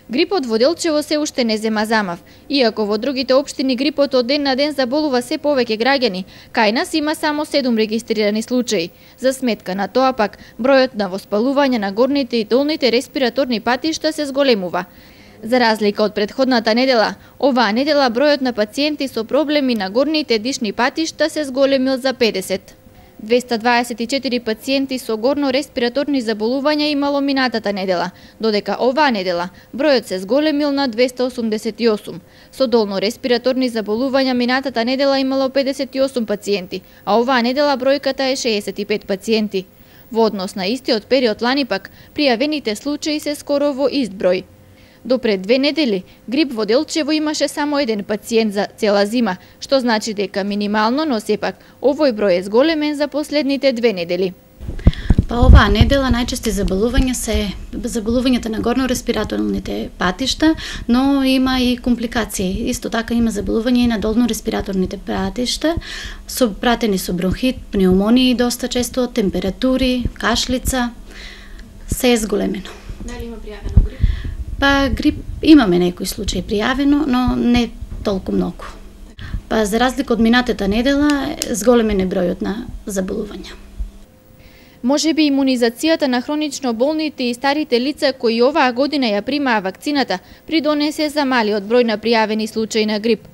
Грипот во Делчево се уште не зема замав. Иако во другите општини грипот од ден на ден заболува се повеќе граѓани, кај нас има само 7 регистрирани случаи. За сметка на тоа пак, бројот на воспалување на горните и долните респираторни патишта се зголемува. За разлика од претходната недела, оваа недела бројот на пациенти со проблеми на горните дишни патишта се зголемил за 50. 224 пациенти со горно-респираторни заболувања имало минатата недела, додека оваа недела бројот се зголемил на 288. Со долно-респираторни заболувања минатата недела имало 58 пациенти, а оваа недела бројката е 65 пациенти. Во однос на истиот период лани пак, пријавените случаи се скоро во ист број. До пред 2 недели, грип во Делчево имаше само еден пациент за цела зима, што значи дека минимално, но сепак, овој број е зголемен за последните 2 недели. Па оваа недела најчести заболувања се заболувањата на горно-респираторните патишта, но има и компликации. Исто така има заболување и на долно-респираторните патишта, пратени со бронхит, пнеумонии доста често, температури, кашлица, се е зголемено. Дали има пријавено грип? Па грип имаме некои случаи пријавено, но не толку многу. Па за разлика од минатата недела, зголемен е бројот на заболувања. Може би имунизацијата на хронично болните и старите лица кои оваа година ја примаа вакцината придонесе за малиот број на пријавени случаи на грип.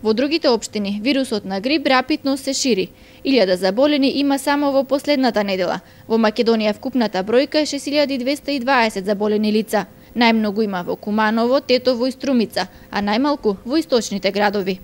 Во другите општини вирусот на грип рапидно се шири. 1000 заболени има само во последната недела. Во Македонија вкупната бројка е 6220 заболени лица. Најмногу има во Куманово, Тетово и Струмица, а најмалку во источните градови.